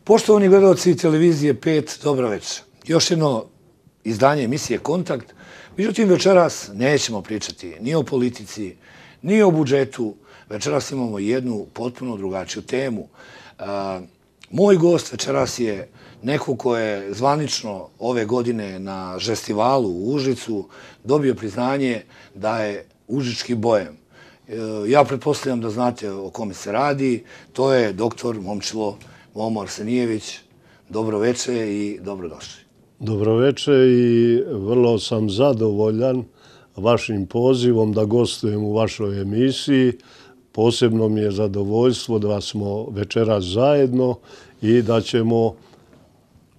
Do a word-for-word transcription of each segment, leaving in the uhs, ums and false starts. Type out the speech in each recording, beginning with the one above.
Poštovani gledalci televizije pet, dobro večer. Još jedno izdanje emisije Kontakt. Međutim, večeras nećemo pričati ni o politici, ni o budžetu. Večeras imamo jednu potpuno drugačiju temu. Moj gost večeras je neko ko je zvanično ove godine na Žestivalu u Užicu dobio priznanje da je užički bojem. Ja pretpostavljam da znate o kome se radi. To je doktor Momčilo Momo Arsenijević. Dobro večer i dobrodošli. Dobro večer i vrlo sam zadovoljan vašim pozivom da gostujem u vašoj emisiji. Posebno mi je zadovoljstvo da smo večeras zajedno i da ćemo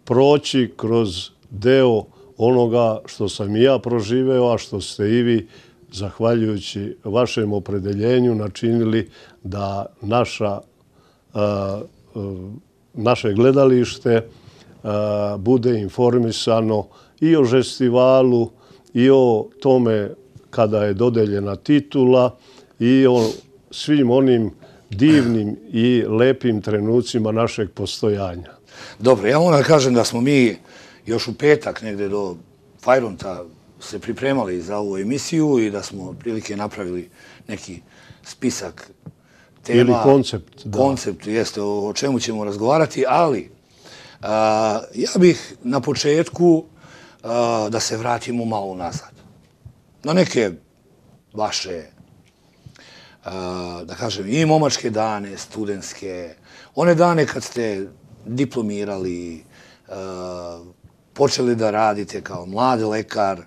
proći kroz deo onoga što sam i ja proživeo, a što ste i vi, zahvaljujući vašem opredeljenju, načinili da naša, a, a, naše gledalište a, bude informisano i o Žestivalu, i o tome kada je dodeljena titula, i o svim onim divnim i lepim trenucima našeg postojanja. Dobro, ja moram da kažem da smo mi još u petak negde do Fajronta se pripremali za ovu emisiju i da smo prilike napravili neki spisak tema. Ili koncept. Da. Koncept, jeste, o čemu ćemo razgovarati, ali a, ja bih na početku a, da se vratimo malo nazad. Na neke vaše, a, da kažem, i momačke dane, studentske, one dane kad ste diplomirali, a, počeli da radite kao mladi lekar,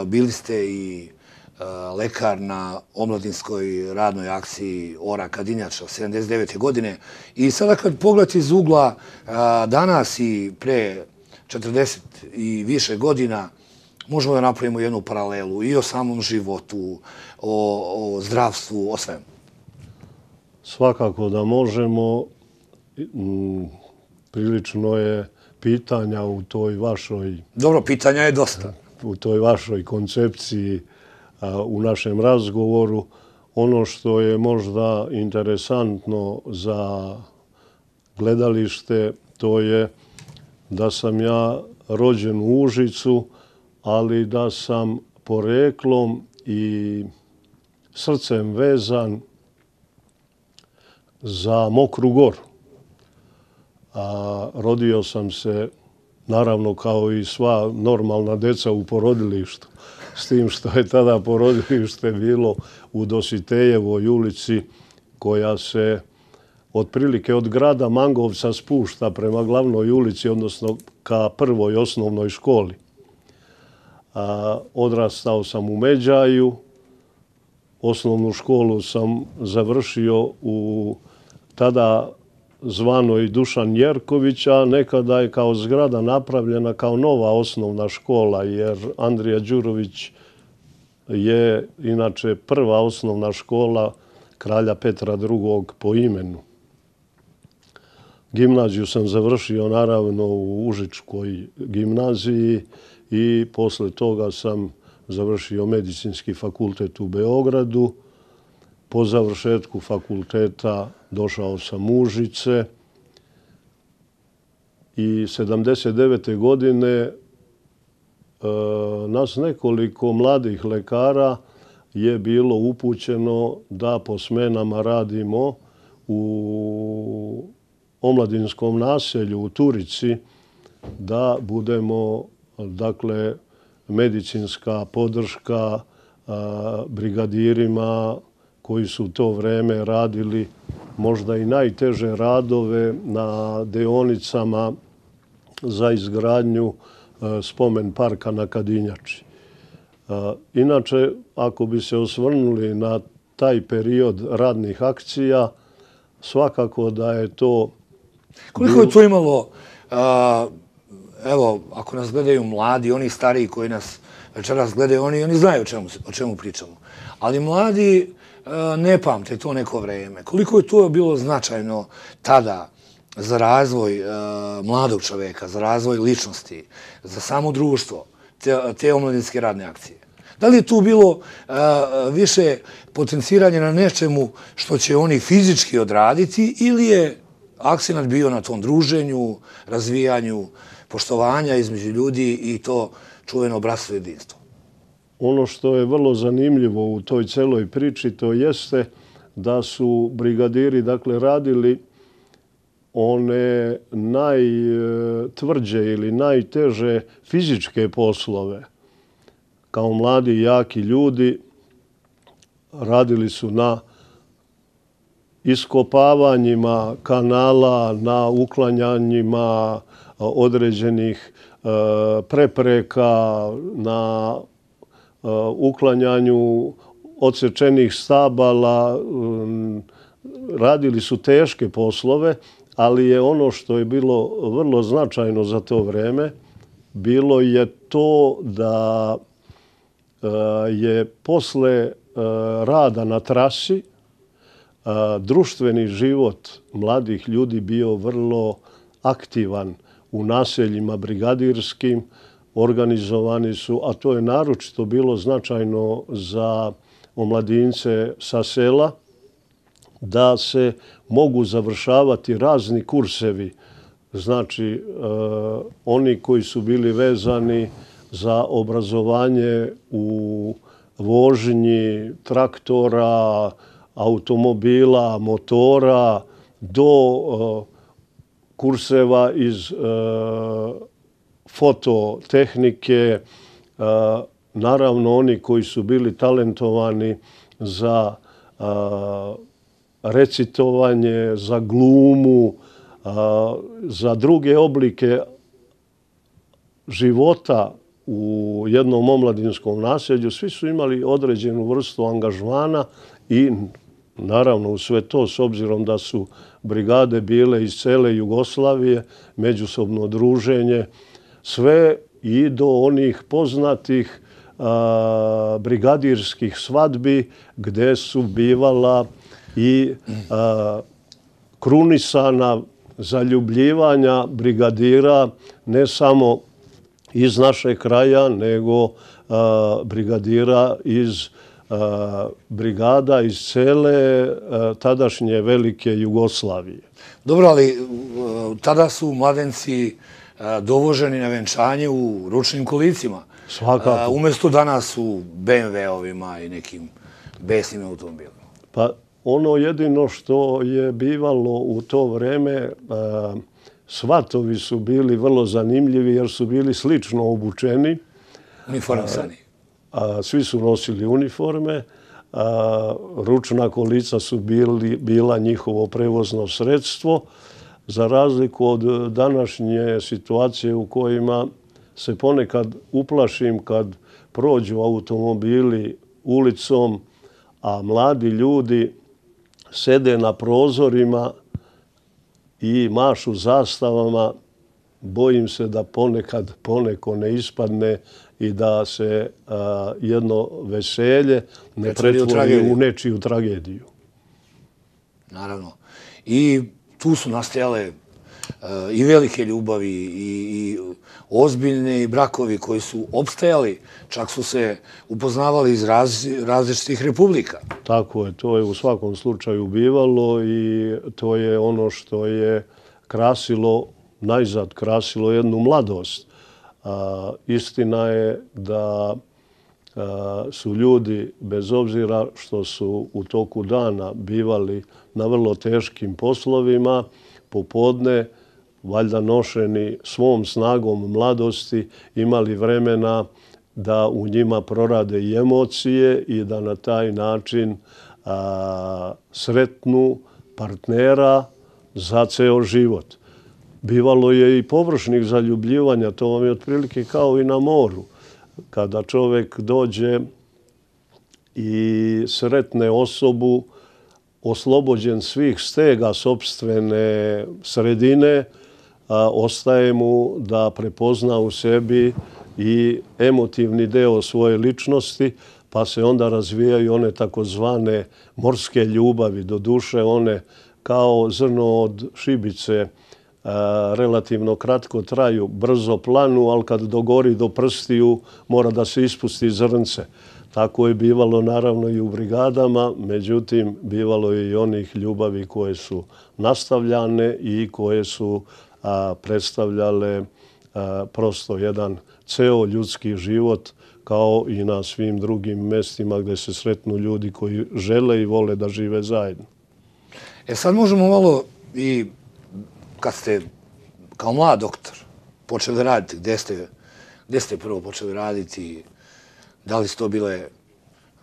bili ste i lekar na omladinskoj radnoj akciji Ora Kadinjača sedamdeset devete godine. I sada kad pogledate iz ugla danas i pre četrdeset i više godina, možemo da napravimo jednu paralelu i o samom životu, o, o zdravstvu, o svemu. Svakako da možemo. Prilično je pitanja u toj vašoj... Dobro, pitanja je dosta. U toj vašoj koncepciji, u našem razgovoru. Ono što je možda interesantno za gledalište, to je da sam ja rođen u Užicu, ali da sam poreklom i srcem vezan za Mokru Goru. A rodio sam se, naravno, kao i sva normalna deca u porodilištu. S tim što je tada porodilište bilo u Dositejevoj ulici, koja se otprilike od grada Mangovca spušta prema glavnoj ulici, odnosno ka prvoj osnovnoj školi. A, odrastao sam u Međaju. Osnovnu školu sam završio u tada zvanoj Dušan Jerković, a nekada je kao zgrada napravljena kao nova osnovna škola, jer Andrija Đurović je inače prva osnovna škola kralja Petra drugog po imenu. Gimnaziju sam završio naravno u Užičkoj gimnaziji i posle toga sam završio medicinski fakultet u Beogradu. Po završetku fakulteta došao sam u Užice i sedamdeset devete godine e, nas nekoliko mladih lekara je bilo upućeno da po smenama radimo u omladinskom naselju u Turici, da budemo, dakle, medicinska podrška a, brigadirima koji su u to vreme radili možda i najteže radove na deonicama za izgradnju spomen parka na Kadinjači. Inače, ako bi se osvrnuli na taj period radnih akcija, svakako da je to... Koliko je to imalo, evo, ako nas gledaju mladi, oni stariji koji nas večeras gledaju, oni, oni znaju o čemu, o čemu pričamo. Ali mladi ne pamte to neko vreme. Koliko je to bilo značajno tada za razvoj mladog čoveka, za razvoj ličnosti, za samo društvo, te, te omladinske radne akcije? Da li je tu bilo više potenciranje na nečemu što će oni fizički odraditi ili je akcenat bio na tom druženju, razvijanju poštovanja između ljudi i to čuveno bratstvo i jedinstvo. Ono što je vrlo zanimljivo u toj celoj priči, to jeste da su brigadiri, dakle, radili one najtvrđe ili najteže fizičke poslove. Kao mladi i jaki ljudi radili su na iskopavanjima kanala, na uklanjanjima određenih prepreka, na uklanjanju odsečenih stabala. Radili su teške poslove, ali je ono što je bilo vrlo značajno za to vreme, bilo je to da je posle rada na trasi društveni život mladih ljudi bio vrlo aktivan u naseljima brigadirskim, organizovani su, a to je naročito bilo značajno za omladince sa sela, da se mogu završavati razni kursevi. Znači, oni koji su bili vezani za obrazovanje u vožnji traktora, automobila, motora, do kurseva iz fototehnike, naravno oni koji su bili talentovani za recitovanje, za glumu, za druge oblike života u jednom omladinskom naselju. Svi su imali određenu vrstu angažmana i naravno u sve to, s obzirom da su brigade bile iz cele Jugoslavije, međusobno druženje, sve i do onih poznatih a, brigadirskih svadbi gde su bivala i a, krunisana zaljubljivanja brigadira ne samo iz našeg kraja, nego a, brigadira iz a, brigada iz cele a, tadašnje velike Jugoslavije. Dobro, ali tada su mladenci dovoženi na venčanje u ručnim kolicima. Svakako. Umesto danas u be em ve-ovima i nekim besnim automobilima. Pa ono jedino što je bivalo u to vreme, svatovi su bili vrlo zanimljivi jer su bili slično obučeni. Uniformisani. Svi su nosili uniforme. Ručna kolica su bili, bila njihovo prevozno sredstvo. Za razliku od današnje situacije u kojima se ponekad uplašim kad prođu automobili ulicom, a mladi ljudi sede na prozorima i mašu zastavama, bojim se da ponekad poneko ne ispadne i da se a, jedno veselje ne pretvori u nečiju tragediju. Naravno. I tu su nastajale i velike ljubavi i ozbiljne brakovi koji su opstajali, čak su se upoznavali iz različitih republika. Tako je, to je u svakom slučaju bivalo i to je ono što je krasilo, najzad krasilo jednu mladost. Istina je da su ljudi, bez obzira što su u toku dana bivali na vrlo teškim poslovima, popodne, valjda nošeni svom snagom mladosti, imali vremena da u njima prorade i emocije i da na taj način a, sretnu partnera za ceo život. Bivalo je i površnih zaljubljivanja, to vam je otprilike kao i na moru. Kada čovjek dođe i sretne osobu, oslobođen svih stega sopstvene sredine, a, ostaje mu da prepozna u sebi i emotivni deo svoje ličnosti, pa se onda razvijaju one takozvane morske ljubavi. Do duše one kao zrno od šibice, a, relativno kratko traju, brzo planu, ali kad dogori do prstiju mora da se ispusti zrnce. Tako je bivalo naravno i u brigadama, međutim bivalo je i onih ljubavi koje su nastavljane i koje su a, predstavljale a, prosto jedan ceo ljudski život, kao i na svim drugim mestima gdje se sretnu ljudi koji žele i vole da žive zajedno. E sad možemo malo i kad ste kao mlad doktor počeli raditi, gdje ste, gdje ste prvo počeli raditi, da li su to bile,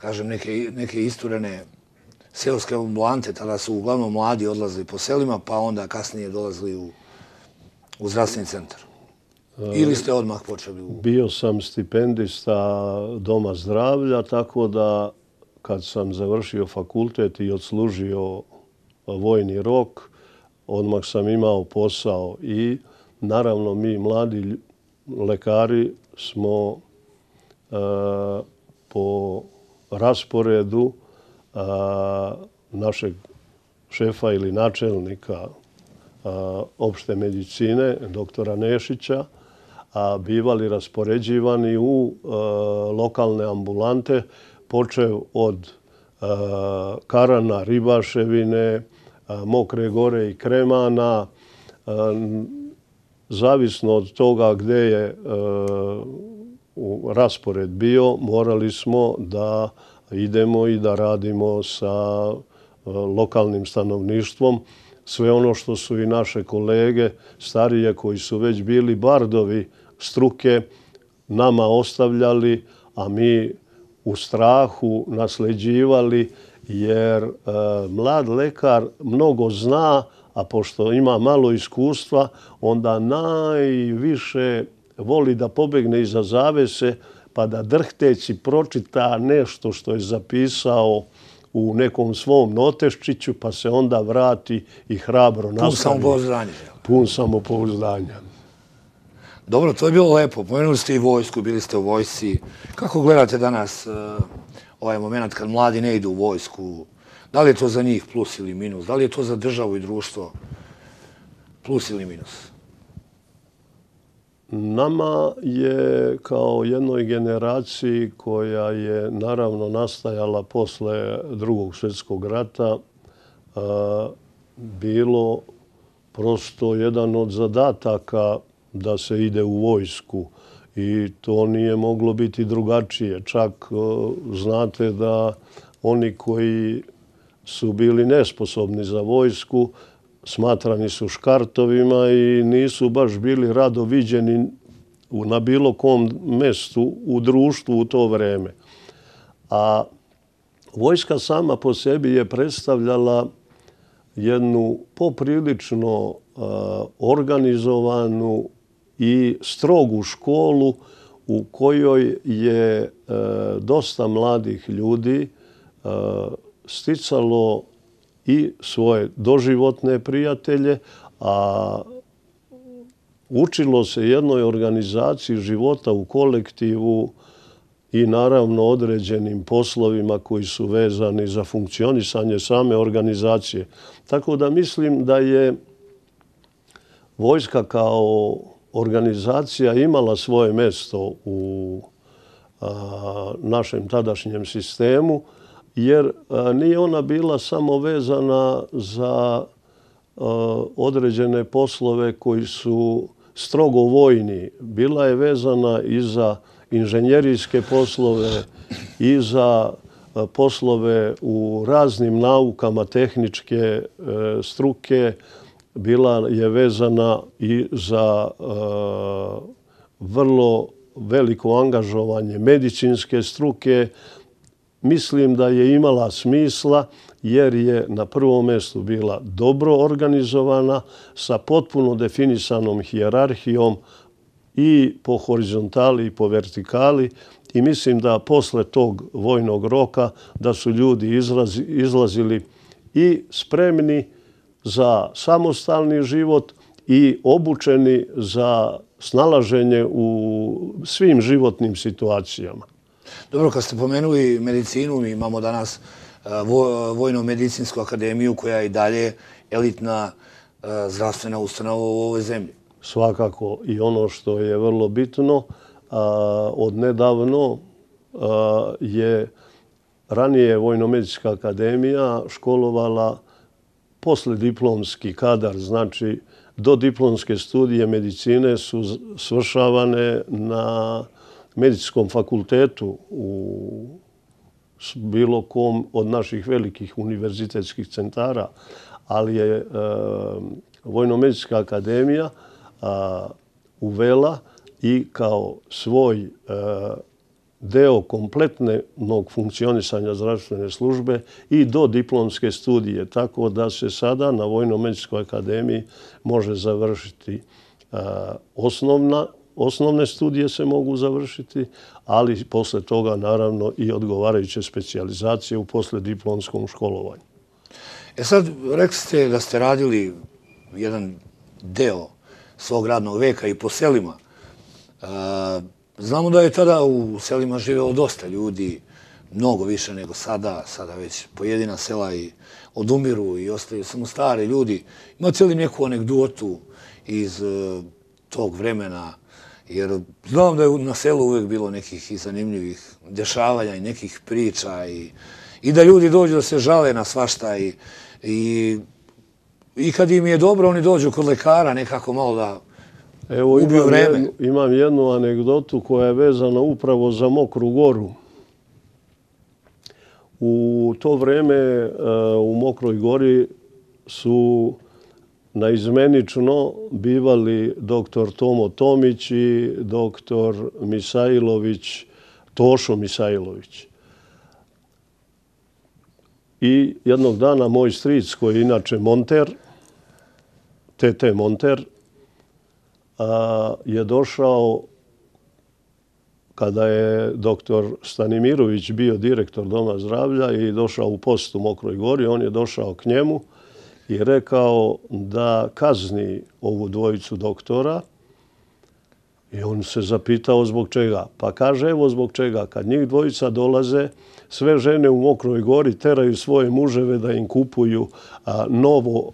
kažem, neke, neke isturene seoske ambulante, tada su uglavnom mladi odlazili po selima, pa onda kasnije dolazili u, u zdravstveni centar. Ili ste odmah počeli u... Bio sam stipendista Doma zdravlja, tako da kad sam završio fakultet i odslužio vojni rok, odmah sam imao posao i naravno mi mladi lekari smo uh, po rasporedu uh, našeg šefa ili načelnika uh, opšte medicine, doktora Nešića, a bivali raspoređivani u uh, lokalne ambulante, počev od uh, Karana, Ribaševine, uh, Mokre Gore i Kremana. Uh, zavisno od toga gdje je uh, raspored bio, morali smo da idemo i da radimo sa uh, lokalnim stanovništvom. Sve ono što su i naše kolege starije koji su već bili bardovi struke nama ostavljali, a mi u strahu nasleđivali, jer e, mlad lekar mnogo zna, a pošto ima malo iskustva, onda najviše voli da pobegne iza zavese, pa da drhteći pročita nešto što je zapisao u nekom svom noteščiću, pa se onda vrati i hrabro nastavi. Pun samopouzdanja. Pun samopouzdanja. Dobro, to je bilo lepo. Pomenuli ste i vojsku, bili ste u vojsci. Kako gledate danas uh, ovaj moment kad mladi ne idu u vojsku? Da li je to za njih plus ili minus? Da li je to za državu i društvo plus ili minus? Nama je kao jednoj generaciji koja je naravno nastajala posle Drugog svjetskog rata uh, bilo prosto jedan od zadataka da se ide u vojsku i to nije moglo biti drugačije. Čak uh, znate da oni koji su bili nesposobni za vojsku smatrani su škartovima i nisu baš bili rado viđeni na bilo kom mestu u društvu u to vreme. A vojska sama po sebi je predstavljala jednu poprilično uh, organizovanu i strogu školu u kojoj je uh, dosta mladih ljudi uh, sticalo i svoje doživotne prijatelje, a učilo se jednoj organizaciji života u kolektivu i naravno određenim poslovima koji su vezani za funkcionisanje same organizacije. Tako da mislim da je vojska kao organizacija imala svoje mjesto u a, našem tadašnjem sistemu, jer a, nije ona bila samo vezana za a, određene poslove koji su strogo vojni. Bila je vezana i za inženjerijske poslove, i za a, poslove u raznim naukama, tehničke e, struke. Bila je vezana i za a, vrlo veliko angažovanje medicinske struke. Mislim da je imala smisla jer je na prvom mjestu bila dobro organizovana sa potpuno definisanom hijerarhijom i po horizontali i po vertikali i mislim da posle tog vojnog roka da su ljudi izlazi, izlazili i spremni za samostalni život i obučeni za snalaženje u svim životnim situacijama. Dobro, kad ste pomenuli medicinu, mi imamo danas Vojno-medicinsku akademiju koja je i dalje elitna zdravstvena ustanova u ovoj zemlji. Svakako i ono što je vrlo bitno, od nedavno je ranije Vojno-medicinska akademija školovala poslediplomski kadar, znači do diplomske studije medicine su svršavane na medicinskom fakultetu u bilo kom od naših velikih univerzitetskih centara, ali je Vojno-medicinska akademija uvela i kao svoj deo kompletnog funkcionisanja zdravstvene službe i do diplomske studije. Tako da se sada na Vojno-medicinskoj akademiji može završiti osnovna, osnovne studije se mogu završiti, ali posle toga naravno i odgovarajuće specijalizacije u poslediplomskom školovanju. E sad, rekli ste da ste radili jedan deo svog radnog veka i po selima. Znamo da je tada u selima živjelo dosta ljudi, mnogo više nego sada. Sada već pojedina sela i odumiru i ostaju samo stari ljudi. Imate li neku anegdotu iz tog vremena? Jer znam da je na selu uvijek bilo nekih i zanimljivih dešavanja i nekih priča i da ljudi dođu da se žale na svašta i kad im je dobro oni dođu kod lekara nekako malo da ubiju vreme. Imam jednu anegdotu koja je vezana upravo za Mokru Goru. U to vreme u Mokroj Gori su naizmenično bivali doktor Tomo Tomić i doktor Misajlović, Tošo Misajlović. I jednog dana moj stric, koji je inače monter, te te monter, je došao, kada je doktor Stanimirović bio direktor Doma zdravlja i došao u posetu Mokroj Gori, on je došao k njemu i rekao da kazni ovu dvojicu doktora. I on se zapitao zbog čega. Pa kaže, evo zbog čega. Kad njih dvojica dolaze, sve žene u Mokroj Gori teraju svoje muževe da im kupuju novo,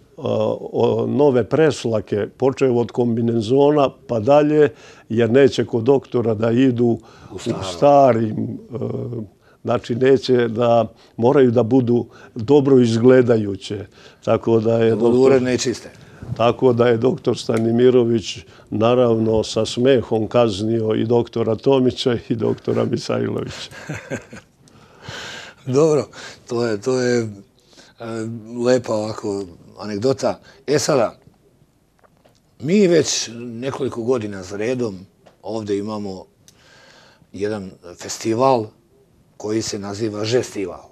nove preslake, počev od kombinezona pa dalje, jer neće kod doktora da idu u starim, znači neće da moraju da budu dobro izgledajuće. Tako da je uredne i čiste. Tako da je doktor Stanimirović naravno sa smehom kaznio i doktora Tomića i doktora Misajlovića. Dobro, to je, to je lepa ovako anegdota. E sada, mi već nekoliko godina za redom ovdje imamo jedan festival koji se naziva Žestival.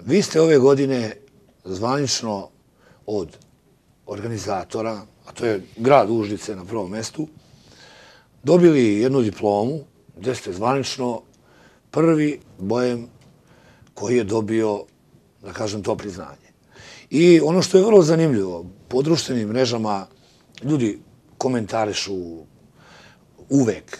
Vi ste ove godine zvanično od organizatora, a to je grad Užice na prvom mestu, dobili jednu diplomu gdje ste zvanično prvi bojem koji je dobio, da kažem, to priznanje. I ono što je vrlo zanimljivo, po društvenim mrežama ljudi komentarišu uvek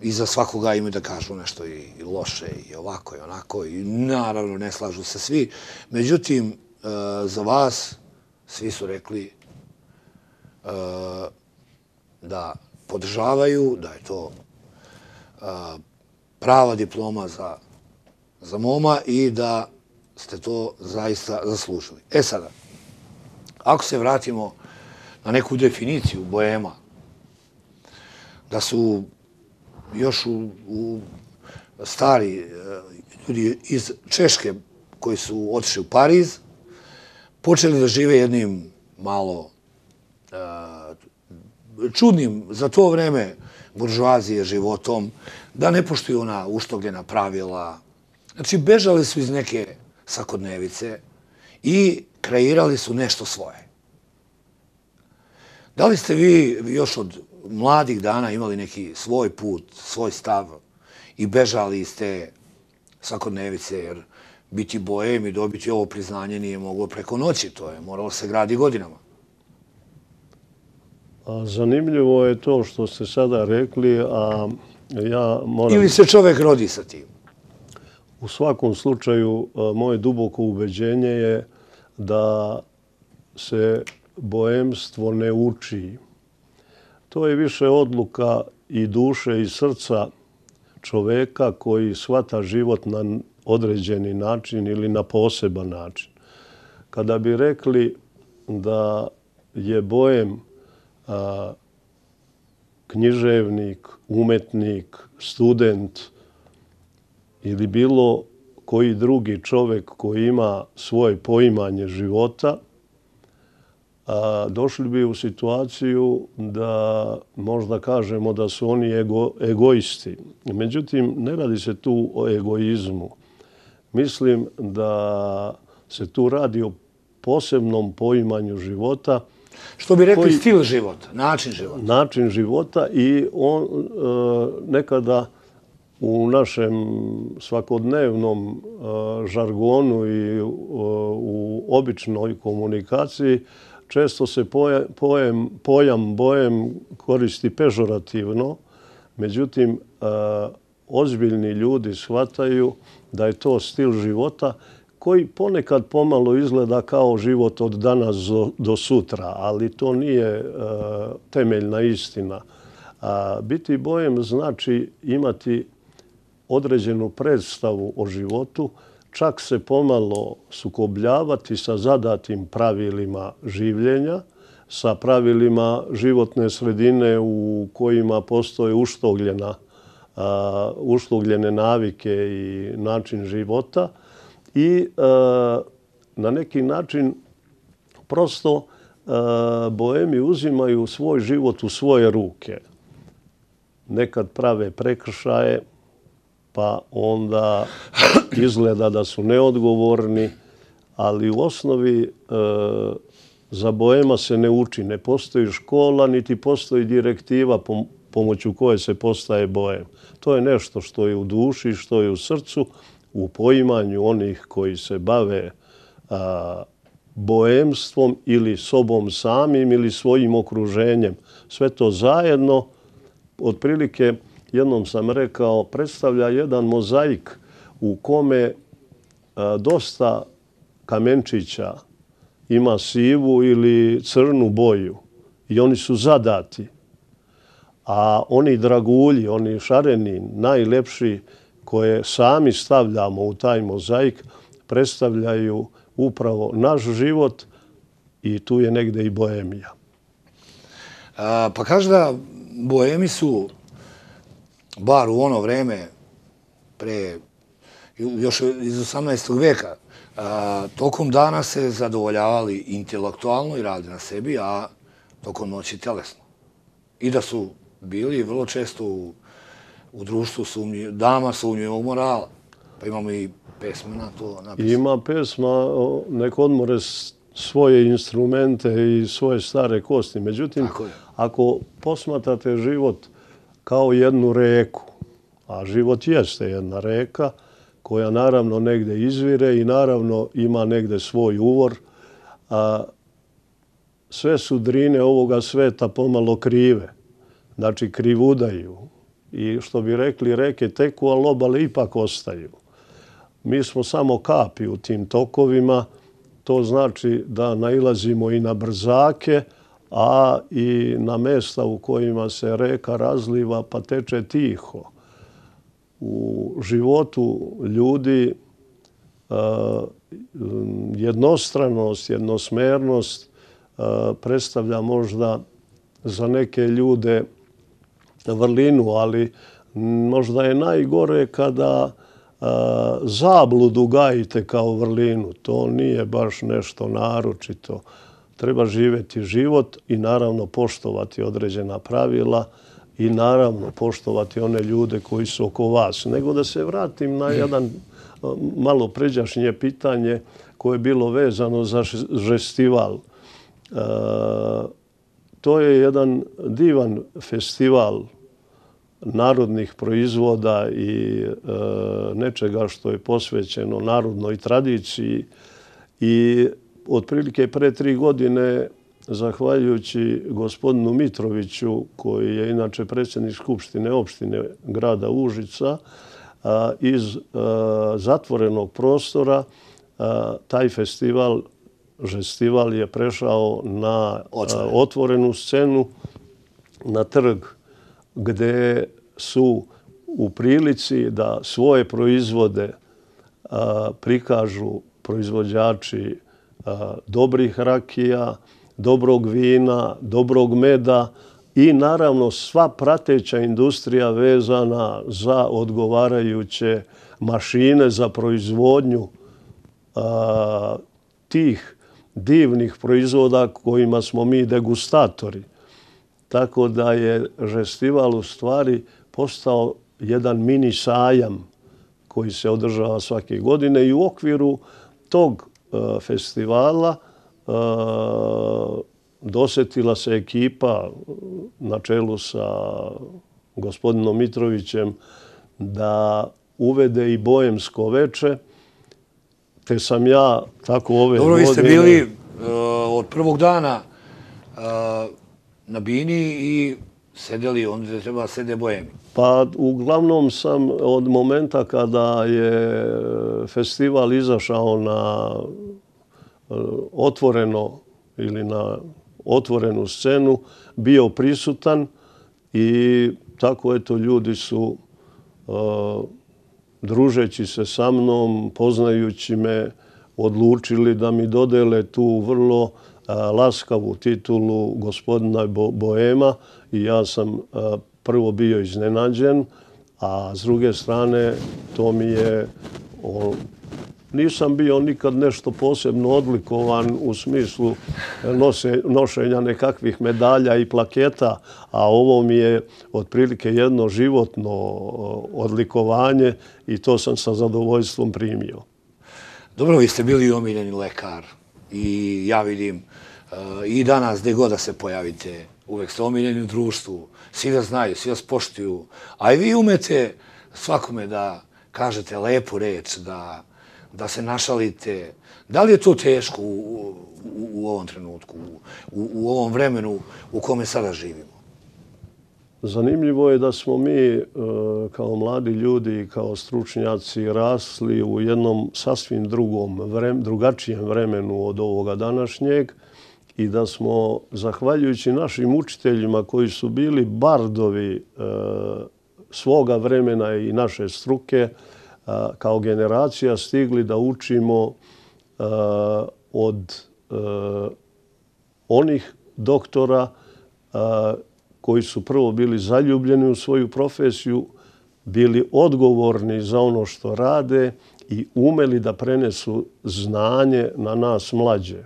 i za svakoga imaju da kažu nešto i loše i ovako i onako i naravno ne slažu se svi. Međutim, za vas svi su rekli da podržavaju, da je to prava diploma za moma i da ste to zaista zaslužili. E sada, ako se vratimo na neku definiciju boema, da su još u stari ljudi iz Češke koji su otišli u Pariz, počeli da žive jednim malo čudnim za to vreme buržoazije životom, da ne poštuju ona uštogljena pravila. Znači, bežali su iz neke svakodnevice i kreirali su nešto svoje. Da li ste vi još od mladih dana imali neki svoj put, svoj stav i bežali iz te svakodnevice, jer biti bojem i dobiti ovo priznanje nije moglo preko noći, to je moralo se gradi godinama. Zanimljivo je to što ste sada rekli, a ja moram... Ili se čovek rodi sa tim? U svakom slučaju, moje duboko ubeđenje je da se boemstvo ne uči. To je više odluka i duše i srca čoveka koji shvata život na određeni način ili na poseban način. Kada bi rekli da je Boem a, književnik, umetnik, student ili bilo koji drugi čovjek koji ima svoje poimanje života, a, došli bi u situaciju da možda kažemo da su oni ego, egoisti. Međutim, ne radi se tu o egoizmu. Mislim da se tu radi o posebnom poimanju života. Što bi rekli koji, stil života, način života. Način života i on e, nekada u našem svakodnevnom e, žargonu i e, u običnoj komunikaciji često se poja, pojem, pojam Boem koristi pežorativno. Međutim, e, ozbiljni ljudi shvataju da je to stil života koji ponekad pomalo izgleda kao život od danas do sutra, ali to nije uh, temeljna istina. Uh, biti Boem znači imati određenu predstavu o životu, čak se pomalo sukobljavati sa zadatim pravilima življenja, sa pravilima životne sredine u kojima postoje uštogljena, uh, uštogljene navike i način života. I e, na neki način prosto e, Boemi uzimaju svoj život u svoje ruke. Nekad prave prekršaje, pa onda izgleda da su neodgovorni, ali u osnovi e, za Boema se ne uči. Ne postoji škola, niti postoji direktiva pom- pomoću koje se postaje Boem. To je nešto što je u duši, što je u srcu, u poimanju onih koji se bave a, boemstvom ili sobom samim ili svojim okruženjem. Sve to zajedno, otprilike, jednom sam rekao, predstavlja jedan mozaik u kome a, dosta kamenčića ima sivu ili crnu boju i oni su zadati. A oni dragulji, oni šareni, najlepši, koje sami stavljamo u taj mozaik, predstavljaju upravo naš život i tu je negde i Boemija. A, pa kaže da Boemi su, bar u ono vreme, pre, još iz osamnaestog veka, a, tokom dana se zadovoljavali intelektualno i radi na sebi, a tokom noći telesno. I da su bili vrlo često u u društvu sumnji, dama sumnjivog morala. Pa imamo i pesme na to napisano. Ima pesma, nek odmore svoje instrumente i svoje stare kosti. Međutim, ako posmatrate život kao jednu reku, a život jeste jedna reka, koja naravno negde izvire i naravno ima negde svoj uvor, a sve sudrine ovoga sveta pomalo krive. Znači, krivudaju. I što bi rekli, reke teku, ali obale ipak ostaju. Mi smo samo kapi u tim tokovima. To znači da nailazimo i na brzake, a i na mesta u kojima se reka razliva pa teče tiho. U životu ljudi jednostranost, jednosmernost predstavlja možda za neke ljude vrlinu, ali možda je najgore kada a, zabludu gajite kao vrlinu. To nije baš nešto naročito. Treba živjeti život i naravno poštovati određena pravila i naravno poštovati one ljude koji su oko vas. Nego da se vratim na jedan malo pređašnje pitanje koje je bilo vezano za festival. E, to je jedan divan festival narodnih proizvoda i e, nečega što je posvećeno narodnoj tradiciji. I otprilike pre tri godine, zahvaljujući gospodinu Mitroviću, koji je inače predsjednik Skupštine opštine grada Užica, a, iz a, zatvorenog prostora a, taj festival, žestival je prešao na a, otvorenu scenu, na trg gdje su u prilici da svoje proizvode prikažu proizvođači dobrih rakija, dobrog vina, dobrog meda i naravno sva prateća industrija vezana za odgovarajuće mašine za proizvodnju tih divnih proizvoda kojima smo mi degustatori. Tako da je festival u stvari postao jedan mini sajam koji se održava svake godine i u okviru tog festivala dosetila se ekipa na čelu sa gospodinom Mitrovićem da uvede i Boemsko veče, te sam ja tako ove godine... Dobro, vi ste bili od prvog dana na bini i sedeli onda gdje treba sede Boemi. Pa uglavnom sam od momenta kada je festival izašao na otvoreno ili na otvorenu scenu bio prisutan i tako eto ljudi su družeći se sa mnom, poznajući me, odlučili da mi dodele tu vrlo laskavu titulu gospodina Boema i ja sam prvo bio iznenađen, a s druge strane to mi je... Nisam bio nikad nešto posebno odlikovan u smislu nošenja nekakvih medalja i plaketa, a ovo mi je otprilike jedno životno odlikovanje i to sam sa zadovoljstvom primio. Dobro, vi ste bili omiljeni lekar i ja vidim i danas gdje god da se pojavite, uvek ste omiljeni u društvu, svi vas znaju, svi vas poštuju, a i vi umete svakome da kažete lepu reč, da da se našalite. Da li je to teško u, u, u ovom trenutku, u, u ovom vremenu u kome sada živimo? Zanimljivo je da smo mi kao mladi ljudi i kao stručnjaci rasli u jednom sasvim drugom, vrem, drugačijem vremenu od ovoga današnjeg i da smo, zahvaljujući našim učiteljima koji su bili bardovi svoga vremena i naše struke, kao generacija stigli da učimo od onih doktora koji su prvo bili zaljubljeni u svoju profesiju, bili odgovorni za ono što rade i umeli da prenesu znanje na nas mlađe.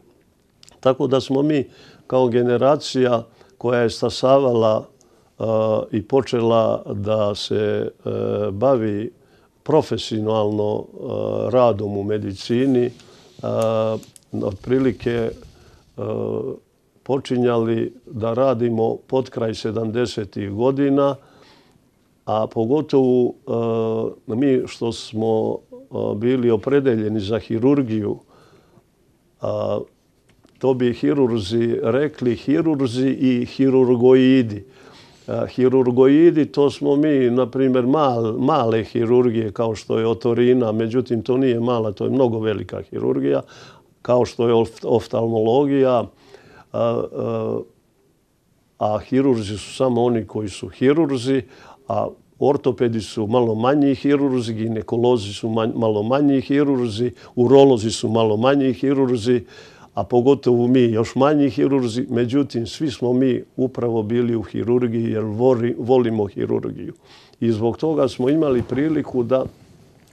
Tako da smo mi kao generacija koja je stasavala i počela da se bavi profesionalno radom u medicini, otprilike počinjali da radimo pod kraj sedamdesetih godina, a pogotovo mi što smo bili opredeljeni za hirurgiju, to bi hirurzi rekli hirurzi i hirurgoidi. Hirurgoidi, to smo mi, na primjer, mal, male hirurgije kao što je otorina, međutim to nije mala, to je mnogo velika hirurgija, kao što je oftalmologija, a, a, a hirurzi su samo oni koji su hirurzi, a ortopedi su malo manji hirurzi, ginekolozi su manj, malo manji hirurzi, urolozi su malo manji hirurzi, a pogotovo mi još manji hirurzi. Međutim, svi smo mi upravo bili u hirurgiji jer volimo hirurgiju. I zbog toga smo imali priliku da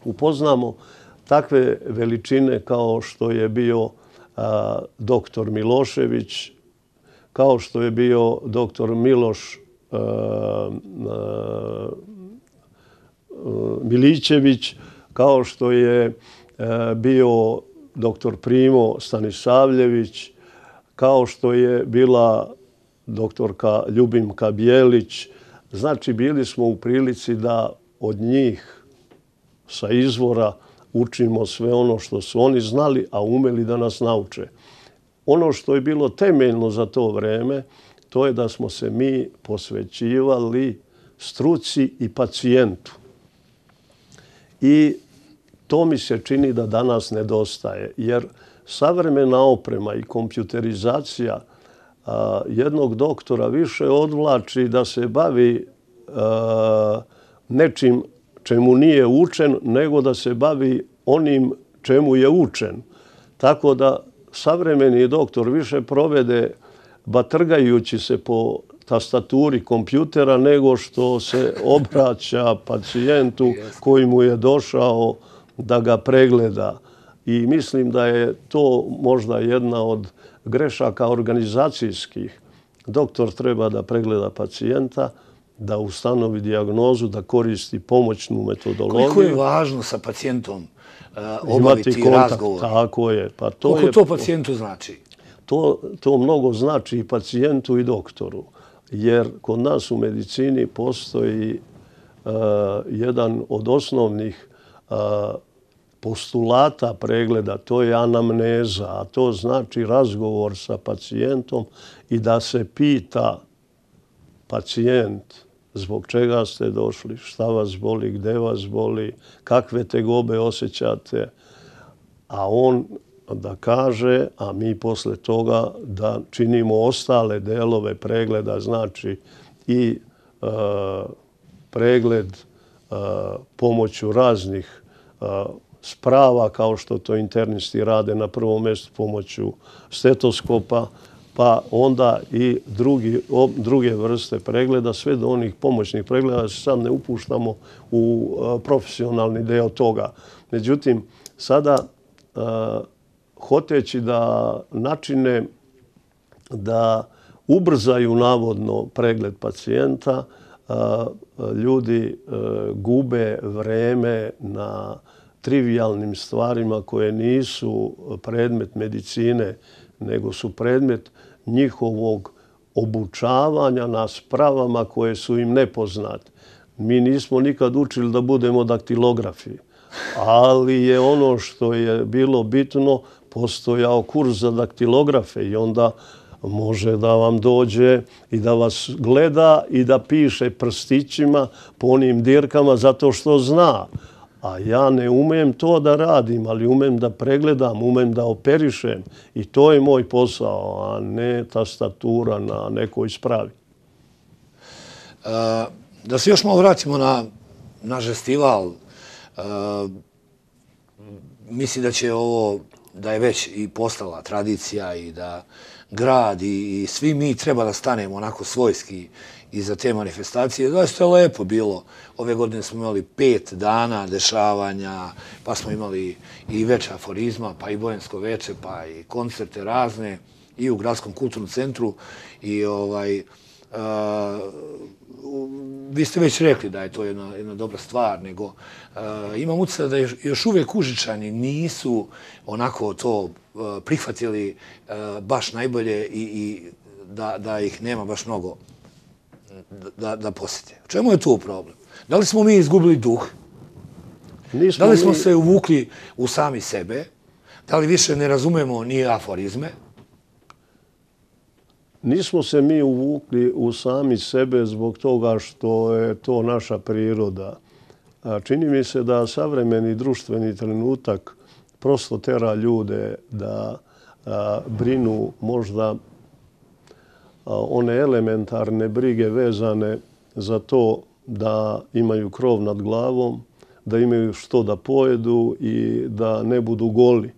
upoznamo takve veličine kao što je bio a, doktor Milošević, kao što je bio doktor Miloš a, a, Milićević, kao što je a, bio doktor Primo Stanisavljević, kao što je bila doktorka Ljubimka Bijelić. Znači, bili smo u prilici da od njih sa izvora učimo sve ono što su oni znali, a umeli da nas nauče. Ono što je bilo temeljno za to vreme, to je da smo se mi posvećivali struci i pacijentu. I to mi se čini da danas nedostaje, jer savremena oprema i kompjuterizacija a, jednog doktora više odvlači da se bavi a, nečim čemu nije učen, nego da se bavi onim čemu je učen. Tako da savremeni doktor više provede batrgajući se po tastaturi kompjutera nego što se obraća pacijentu koji mu je došao da ga pregleda. I mislim da je to možda jedna od grešaka organizacijskih. Doktor treba da pregleda pacijenta, da ustanovi dijagnozu, da koristi pomoćnu metodologiju. Koliko je važno sa pacijentom uh, obaviti razgovor? Tako je. Pa to Koliko je, to pacijentu znači? To, to mnogo znači i pacijentu i doktoru. Jer kod nas u medicini postoji uh, jedan od osnovnih uh, postulata pregleda, to je anamneza, a to znači razgovor sa pacijentom i da se pita pacijent zbog čega ste došli, šta vas boli, gde vas boli, kakve tegobe osjećate, a on da kaže, a mi posle toga da činimo ostale delove pregleda, znači i e, pregled e, pomoću raznih e, sprava, kao što to internisti rade na prvom mjestu pomoću stetoskopa, pa onda i drugi, o, druge vrste pregleda, sve do onih pomoćnih pregleda, da se sad ne upuštamo u a, profesionalni deo toga. Međutim, sada a, hoteći da načine da ubrzaju navodno pregled pacijenta, a, ljudi a, gube vreme na trivijalnim stvarima koje nisu predmet medicine, nego su predmet njihovog obučavanja na spravama koje su im nepoznate. Mi nismo nikad učili da budemo daktilografi, ali je ono što je bilo bitno, postojao kurs za daktilografe i onda može da vam dođe i da vas gleda i da piše prstićima po onim dirkama zato što zna. A ja ne umem to da radim, ali umem da pregledam, umem da operišem. I to je moj posao, a ne tastatura na nekoj spravi. Uh, da se još malo vratimo na naš festival. Uh, mislim da će ovo, da je već i postala tradicija i da grad i, i svi mi treba da stanemo onako svojski iza te manifestacije. Zaista je lepo bilo. Ove godine smo imali pet dana dešavanja, pa smo imali i veče aforizma, pa i bojansko veče, pa i koncerte razne i u Gradskom kulturnom centru. I ovaj, uh, vi ste već rekli da je to jedna, jedna dobra stvar, nego uh, imam utisak da još uvijek Užičani nisu onako to uh, prihvatili uh, baš najbolje i, i da, da ih nema baš mnogo da, da posjete. U čemu je tu problem? Da li smo mi izgubili duh? Nismo da li smo mi... se uvukli u sami sebe? Da li više ne razumemo ni aforizme? Nismo se mi uvukli u sami sebe zbog toga što je to naša priroda. Čini mi se da savremeni društveni trenutak prosto tera ljude da a, brinu možda one elementarne brige vezane za to da imaju krov nad glavom, da imaju što da pojedu i da ne budu goli.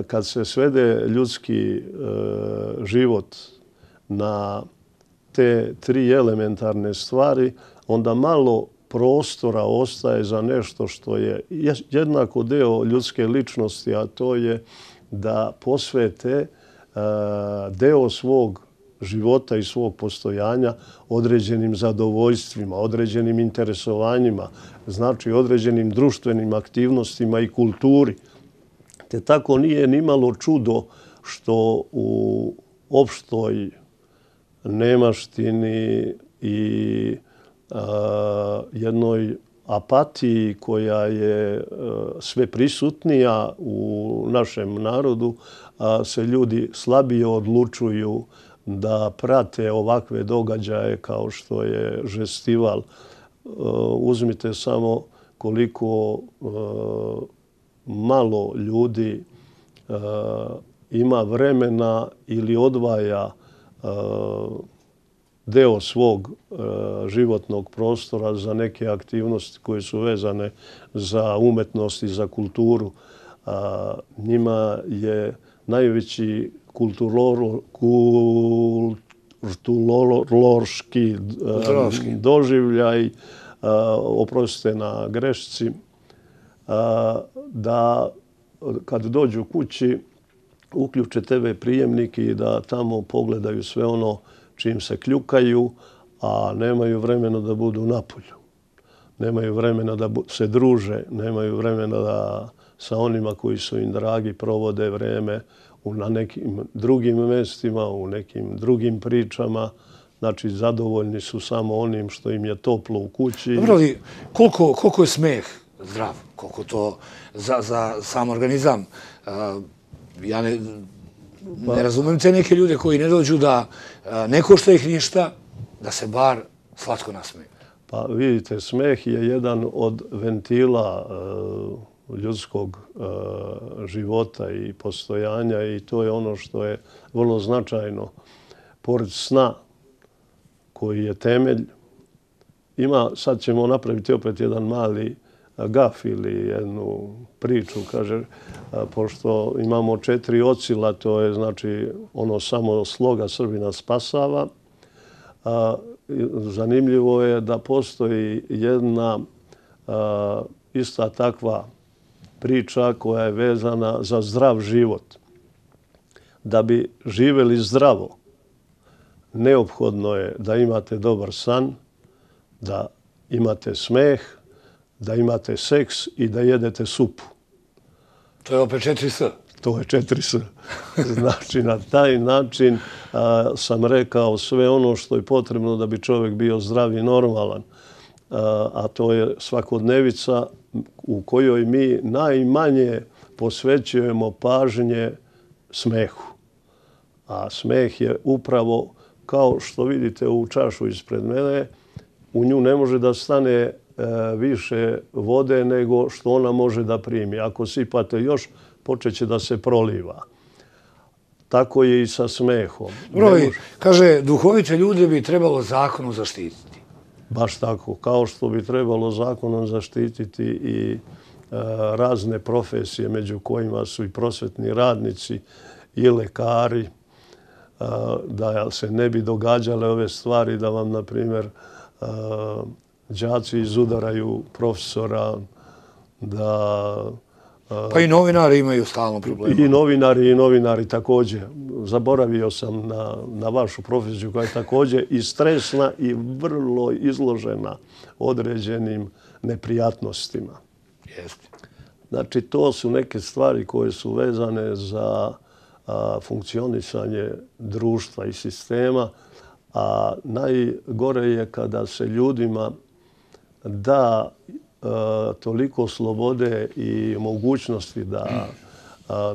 Kad se svede ljudski život na te tri elementarne stvari, onda malo prostora ostaje za nešto što je jednako deo ljudske ličnosti, a to je da posvete deo svog života i svog postojanja određenim zadovoljstvima, određenim interesovanjima, znači određenim društvenim aktivnostima i kulturi. Te tako nije ni malo čudo što u opštoj nemaštini i a, jednoj apatiji koja je a, sve prisutnija u našem narodu, a, se ljudi slabije odlučuju da prate ovakve događaje kao što je Žestival. Uzmite samo koliko malo ljudi ima vremena ili odvaja deo svog životnog prostora za neke aktivnosti koje su vezane za umetnost i za kulturu. Njima je najveći kulturološki doživljaj, oprostite na grešci, da kad dođu kući uključe te ve prijemnik i da tamo pogledaju sve ono čim se kljukaju, a nemaju vremena da budu napolju. Nemaju vremena da se druže, nemaju vremena da sa onima koji su im dragi provode vreme na nekim drugim mestima, u nekim drugim pričama. Znači, zadovoljni su samo onim što im je toplo u kući. Dobro, ali koliko, koliko je smeh zdrav? Koliko to za, za sam organizam? Ja ne, ne razumem te neke ljude koji ne dođu da ne košta ih ništa, da se bar slatko nasmeju. Pa vidite, smeh je jedan od ventila ljudskog života i postojanja i to je ono što je vrlo značajno. Pored sna, koji je temelj, ima, sad ćemo napraviti opet jedan mali gaf ili jednu priču, kaže, pošto imamo četiri ocila, to je znači ono samo sloga Srbina spasava. Zanimljivo je da postoji jedna ista takva priča koja je vezana za zdrav život. Da bi živeli zdravo, neophodno je da imate dobar san, da imate smeh, da imate seks i da jedete supu. To je opet četiri S. To je četiri S. Znači, na taj način a, sam rekao sve ono što je potrebno da bi čovjek bio zdrav i normalan. A, a to je svakodnevica u kojoj mi najmanje posvećujemo pažnje smehu. A smeh je upravo, kao što vidite u čašu ispred mene, u nju ne može da stane e, više vode nego što ona može da primi. Ako sipate još, počeće da se proliva. Tako je i sa smehom. Broj, kaže, duhovite ljude bi trebalo zakonom zaštititi. Baš tako. Kao što bi trebalo zakonom zaštititi i e, razne profesije, među kojima su i prosvetni radnici i lekari, e, da se ne bi događale ove stvari, da vam, na primjer, e, đaci izudaraju profesora, da... Pa i novinari imaju stalno problema. I novinari, i novinari također. Zaboravio sam na, na vašu profesiju koja je također i stresna i vrlo izložena određenim neprijatnostima. Jeste. Znači, to su neke stvari koje su vezane za a, funkcionisanje društva i sistema, a najgore je kada se ljudima da toliko slobode i mogućnosti da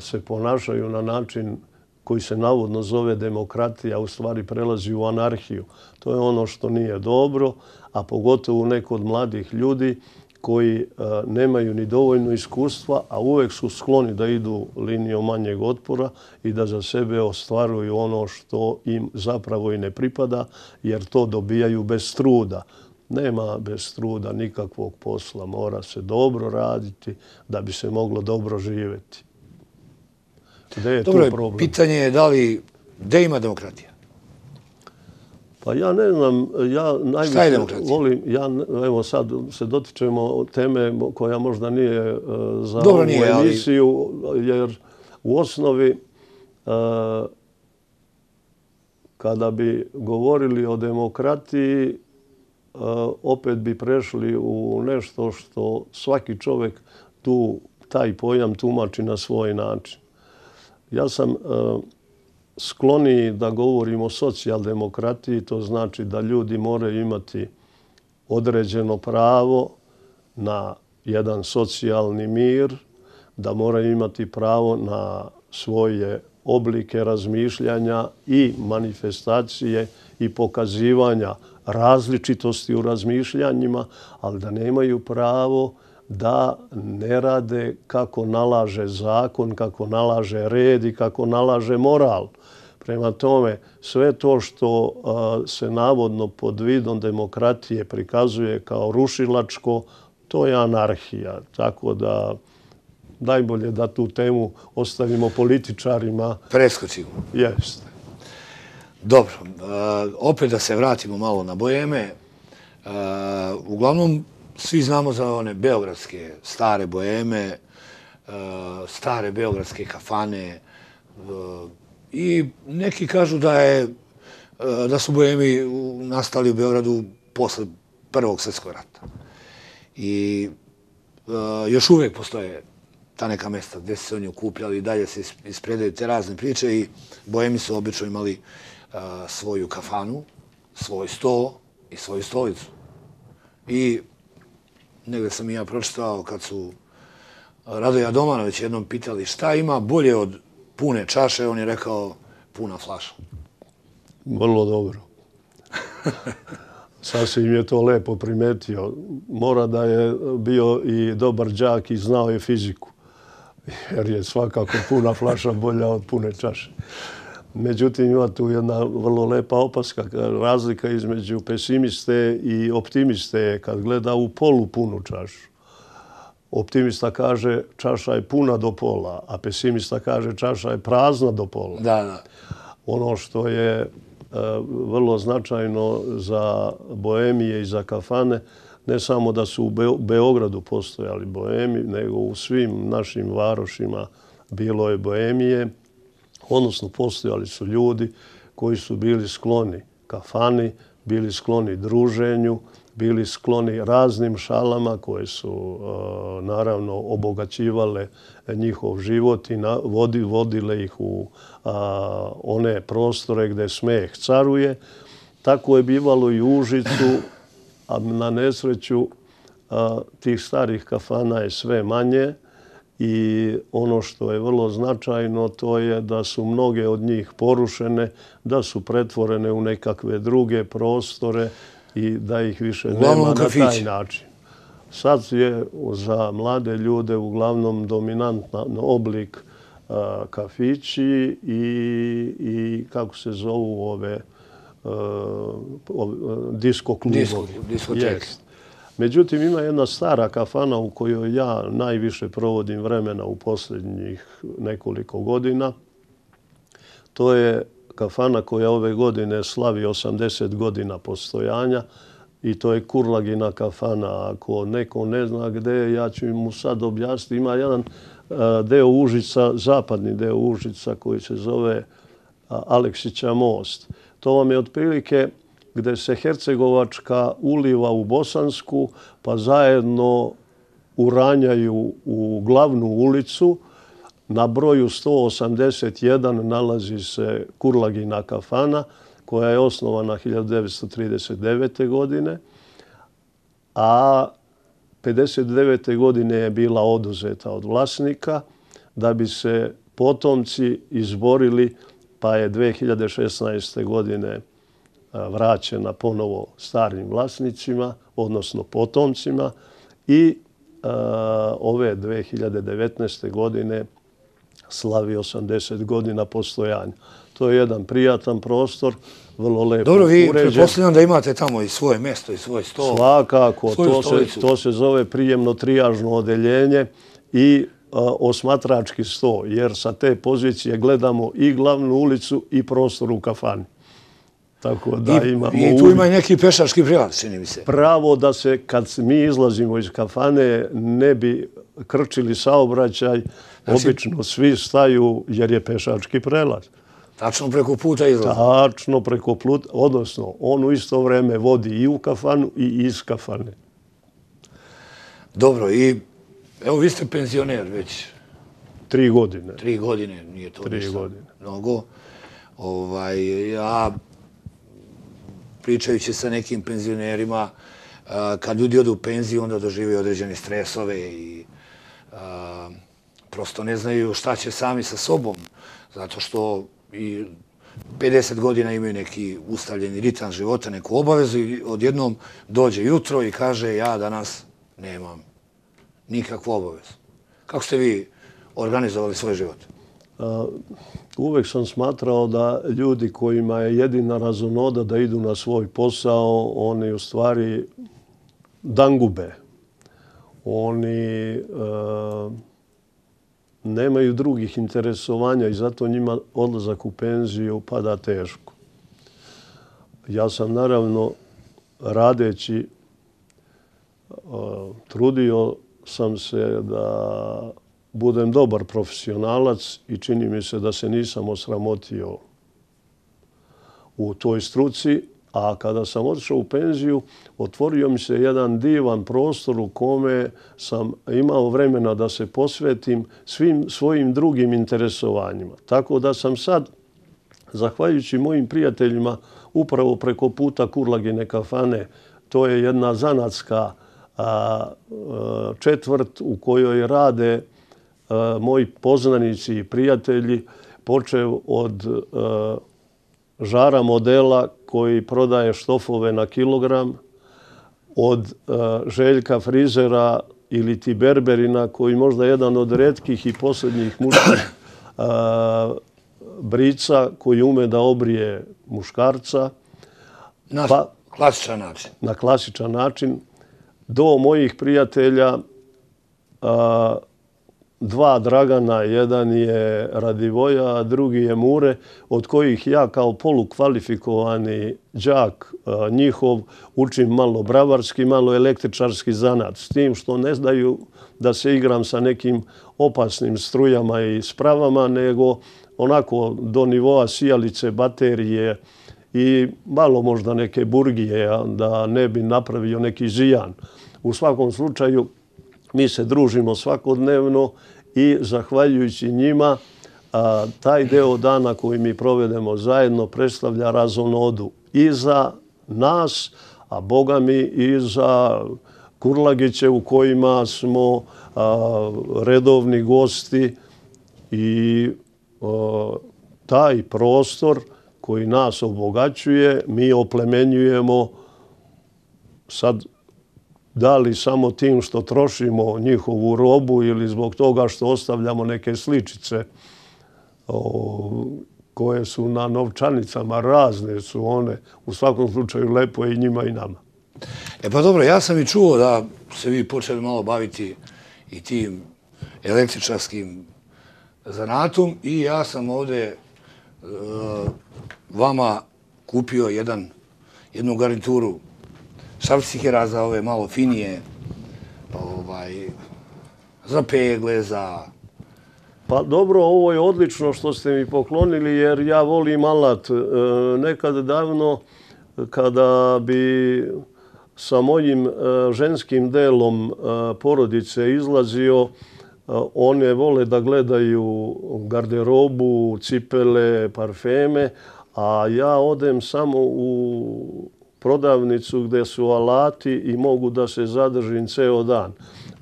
se ponašaju na način koji se navodno zove demokratija, u stvari prelazi u anarhiju. To je ono što nije dobro, a pogotovo neko od mladih ljudi koji nemaju ni dovoljno iskustva, a uvek su skloni da idu linijom manjeg otpora i da za sebe ostvaruju ono što im zapravo i ne pripada, jer to dobijaju bez truda. Nema bez truda nikakvog posla. Mora se dobro raditi da bi se moglo dobro živjeti. Gde je dobro, tu problem? Pitanje je da li, gde ima demokratija? Pa ja ne znam, ja najviše Šta je demokratija? volim, ja, evo sad se dotičemo teme koja možda nije uh, za dobro, ovu nije, emisiju, ali... jer u osnovi uh, kada bi govorili o demokratiji, Uh, opet bi prešli u nešto što svaki čovjek tu, taj pojam tumači na svoj način. Ja sam uh, skloniji da govorim o socijaldemokratiji, to znači da ljudi moraju imati određeno pravo na jedan socijalni mir, da moraju imati pravo na svoje oblike razmišljanja i manifestacije i pokazivanja različitosti u razmišljanjima, ali da nemaju pravo da ne rade kako nalaže zakon, kako nalaže red i kako nalaže moral. Prema tome, sve to što se navodno pod vidom demokratije prikazuje kao rušilačko, to je anarhija. Tako da najbolje da tu temu ostavimo političarima. Preskočimo. Jeste. Dobro, opet da se vratimo malo na Boeme. Uglavnom, svi znamo za one beogradske stare Boeme, stare beogradske kafane i neki kažu da je da su Boemi nastali u Beogradu posle Prvog svjetskog rata. I još uvijek postoje ta neka mesta gdje su se oni okupljali i dalje se ispredaju te razne priče i Boemi su obično imali svoju kafanu, svoj sto i svoju stolicu. I negdje sam i ja pročitao kad su Radoja Domanović jednom pitali šta ima bolje od pune čaše, on je rekao puna flaša. Vrlo dobro. Sasvim je to lepo primetio. Mora da je bio i dobar đak i znao je fiziku. Jer je svakako puna flaša bolja od pune čaše. Međutim, ima tu jedna vrlo lepa opaska. Razlika između pesimiste i optimiste je kad gleda u polupunu čašu. Optimista kaže čaša je puna do pola, a pesimista kaže čaša je prazna do pola. Da, da. Ono što je vrlo značajno za Boemije i za kafane, ne samo da su u Beogradu postojali Boemi, nego u svim našim varošima bilo je Boemije, odnosno postojali su ljudi koji su bili skloni kafani, bili skloni druženju, bili skloni raznim šalama koje su naravno obogaćivale njihov život i vodile ih u one prostore gdje smeh caruje. Tako je bivalo i u Užicu, a na nesreću tih starih kafana je sve manje i ono što je vrlo značajno to je da su mnoge od njih porušene, da su pretvorene u nekakve druge prostore i da ih više nema na taj način. Sad je za mlade ljude uglavnom dominantan oblik kafići i kako se zovu ove disko klubovi. Diskoteke. Međutim, ima jedna stara kafana u kojoj ja najviše provodim vremena u posljednjih nekoliko godina. To je kafana koja ove godine slavi osamdeset godina postojanja i to je Kurlagina kafana. Ako neko ne zna gde je, ja ću mu sad objasniti. Ima jedan deo Užica, zapadni deo Užica koji se zove Aleksića most. To vam je otprilike gde se Hercegovačka uliva u Bosansku, pa zajedno uranjaju u glavnu ulicu. Na broju sto osamdeset jedan nalazi se Kurlagina kafana, koja je osnovana hiljadu devetsto trideset devete. godine, a pedeset devete. godine je bila oduzeta od vlasnika da bi se potomci izborili, pa je dve hiljade šesnaeste. godine vraćena ponovo starim vlasnicima, odnosno potomcima i ove dve hiljade devetnaeste. godine slavi osamdeset godina postojanja. To je jedan prijatan prostor, vrlo lepo uređen. Dobro, vi pretpostavljam da imate tamo i svoje mjesto i svoj stol. Svakako, to se zove prijemno-trijažno odeljenje i osmatrački sto, jer sa te pozicije gledamo i glavnu ulicu i prostor u kafani. Tako da imamo... I tu ima i neki pešački prilaz, čini mi se. Pravo da se, kad mi izlazimo iz kafane, ne bi krčili saobraćaj, obično svi staju jer je pešački prelaz. Tačno preko puta izlazi. Tačno preko puta, odnosno on u isto vreme vodi i u kafanu i iz kafane. Dobro, i evo vi ste penzioner već... Tri godine. Tri godine, nije to Tri ništa godine. mnogo. Ja, pričajući sa nekim penzionerima, kad ljudi odu u penziju, onda dožive određene stresove i prosto ne znaju šta će sami sa sobom, zato što i pedeset godina imaju neki ustavljeni ritam života, neku obavezu i odjednom dođe jutro i kaže ja danas nemam nikakvu obavezu. Kako ste vi organizovali svoj život? uvek sam smatrao da ljudi kojima je jedina razonoda da idu na svoj posao, oni u stvari dangube. Oni nemaju drugih interesovanja i zato njima odlazak u penziju pada teško. Ja sam naravno radeći, trudio sam se da budem dobar profesionalac i čini mi se da se nisam osramotio u toj struci, a kada sam otišao u penziju, otvorio mi se jedan divan prostor u kome sam imao vremena da se posvetim svim svojim drugim interesovanjima. Tako da sam sad, zahvaljujući mojim prijateljima, upravo preko puta Kurlagine kafane, to je jedna zanatska četvrt u kojoj rade moji poznanici i prijatelji, počev od Žara Modela koji prodaje štofove na kilogram, od Željka Frizera ili ti Berberina koji možda jedan od retkih i posljednjih muških brica koji ume da obrije muškarca. Na klasičan način. Na klasičan način. Do mojih prijatelja, dva Dragana, jedan je Radivoja, a drugi je Mure, od kojih ja kao polukvalifikovani đak njihov učim malo bravarski, malo električarski zanat. S tim što ne znaju da se igram sa nekim opasnim strujama i spravama, nego onako do nivoa sijalice, baterije i malo možda neke burgije, da ne bi napravio neki zijan. U svakom slučaju, mi se družimo svakodnevno i zahvaljujući njima taj deo dana koji mi provedemo zajedno predstavlja razonodu i za nas, a Boga mi i za Kurlagiće u kojima smo redovni gosti i taj prostor koji nas obogaćuje mi oplemenjujemo sad da li samo tim što trošimo njihovu robu ili zbog toga što ostavljamo neke sličice koje su na novčanicama, razne su one. U svakom slučaju lepo je i njima i nama. E pa dobro, ja sam i čuo da se vi počeli malo baviti i tim električarskim zanatom i ja sam ovdje vama kupio jednu garnituru šrafcikera za ove malo finije, za pegle, za... Pa dobro, ovo je odlično što ste mi poklonili jer ja volim alat. Nekad davno kada bi sa mojim ženskim delom porodice izlazio, one vole da gledaju garderobu, cipele, parfeme, a ja odem samo u prodavnicu gde su alati i mogu da se zadržim ceo dan.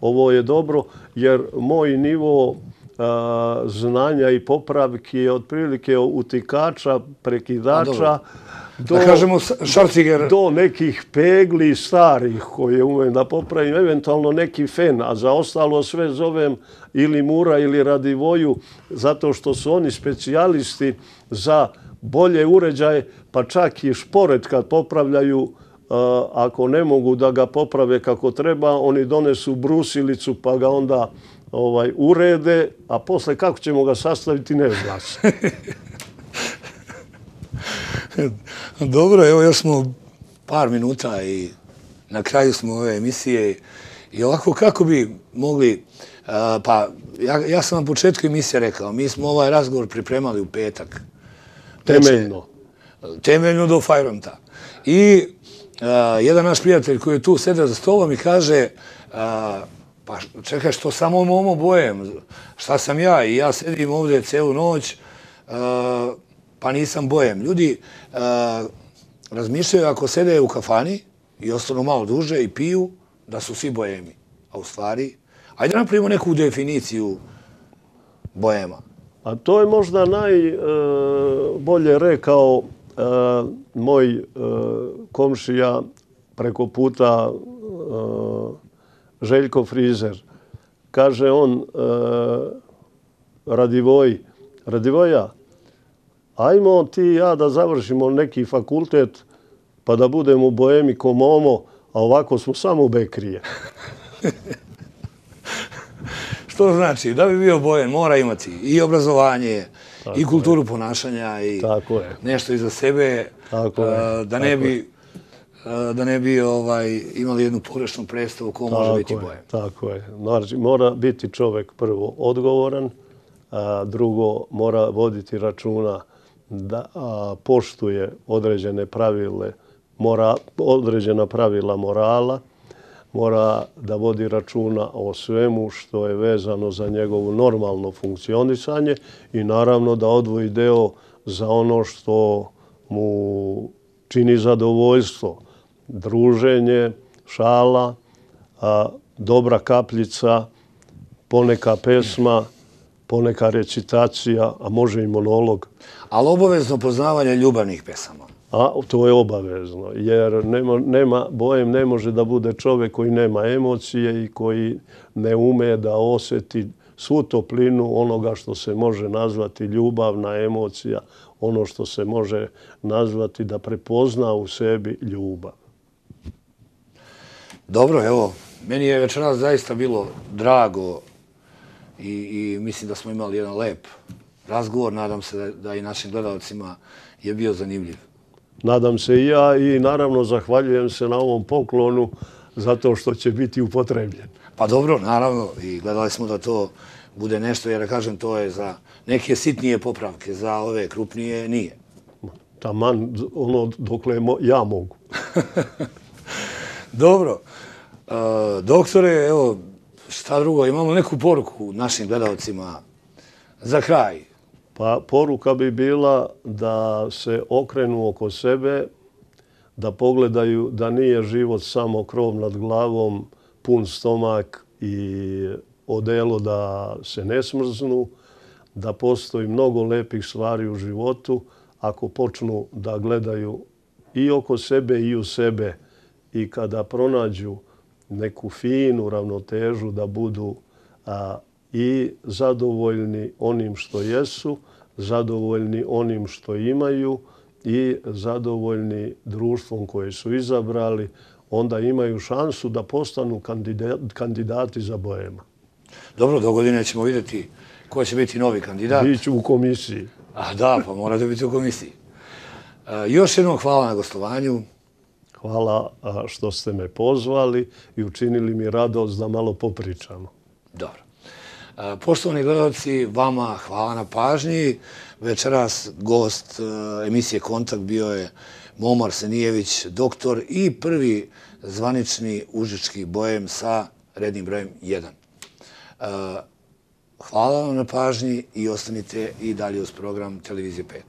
Ovo je dobro jer moj nivo znanja i popravki je otprilike utikača, prekidača do nekih pegli starih koje umem da popravim, eventualno neki fen, a za ostalo sve zovem ili Mura ili Radivoju, zato što su oni specijalisti za bolje uređaje, pa čak i šporet kad popravljaju, ako ne mogu da ga poprave kako treba, oni donesu brusilicu pa ga onda urede, a posle kako ćemo ga sastaviti ne zna se. Dobro, evo još smo par minuta i na kraju smo ove emisije i ovako kako bi mogli, pa ja sam na početku emisije rekao, mi smo ovaj razgovor pripremali u petak. Temeljno. Temeljno do Fajronta. I jedan naš prijatelj koji je tu sedeo za stolom mi kaže, pa čekaj, što samo momo bojem, šta sam ja? I ja sedim ovdje celu noć, pa nisam bojem. Ljudi razmišljaju ako sede u kafani i ostanu malo duže i piju, da su svi bojemi. A u stvari, ajde napravimo neku definiciju bojema. A to je možda najbolje rekao moj komšija preko puta Željko Frizer. Kaže on, Radivoj, Radivoja, ajmo ti i ja da završimo neki fakultet pa da budemo u Boemi ko Momo, a ovako smo samo bekrije. Što znači, da bi bio Bojan, mora imati i obrazovanje, i kulturu ponašanja, i nešto iza sebe, da ne bi da ne bi imali jednu pogrešnu predstavu ko može biti Bojan. Tako je. Znači, mora biti čovek prvo odgovoran, drugo mora voditi računa da poštuje određene pravile, određena pravila morala, mora da vodi računa o svemu što je vezano za njegovo normalno funkcionisanje i naravno da odvoji deo za ono što mu čini zadovoljstvo. Druženje, šala, dobra kapljica, poneka pesma, poneka recitacija, a može i monolog. Ali obavezno poznavanje ljubavnih pesama. A to je obavezno, jer Bojem ne može da bude čovek koji nema emocije i koji ne ume da osjeti svu toplinu onoga što se može nazvati ljubavna emocija, ono što se može nazvati da prepozna u sebi ljubav. Dobro, evo, meni je večeras zaista bilo drago i mislim da smo imali jedan lep razgovor. Nadam se da i našim gledalcima je bio zanimljiv. Nadam se i ja i naravno zahvaljujem se na ovom poklonu zato što će biti upotrebljen. Pa dobro, naravno, i gledali smo da to bude nešto, jer kažem, to je za neke sitnije popravke, za ove krupnije nije. Taman ono dokle ja mogu. Dobro. Doktore, evo, šta drugo, imamo neku poruku našim gledalcima za kraj? Pa poruka bi bila da se okrenu oko sebe, da pogledaju da nije život samo krov nad glavom, pun stomak i odelo da se ne smrznu, da postoji mnogo lepih stvari u životu ako počnu da gledaju i oko sebe i u sebe i kada pronađu neku finu ravnotežu da budu i zadovoljni onim što jesu, zadovoljni onim što imaju i zadovoljni društvom koje su izabrali, onda imaju šansu da postanu kandidati za Boema. Dobro, do godine ćemo vidjeti ko će biti novi kandidat. Biću u komisiji. A da, pa morate biti u komisiji. Još jednom hvala na gostovanju. Hvala što ste me pozvali i učinili mi radost da malo popričamo. Dobro. Poštovani gledalci, vama hvala na pažnji. Večeras gost emisije Kontakt bio je Momo Arsenijević, doktor i prvi zvanični užički Boem sa rednim brojem jedan. Hvala vam na pažnji i ostanite i dalje uz program Televizije pet.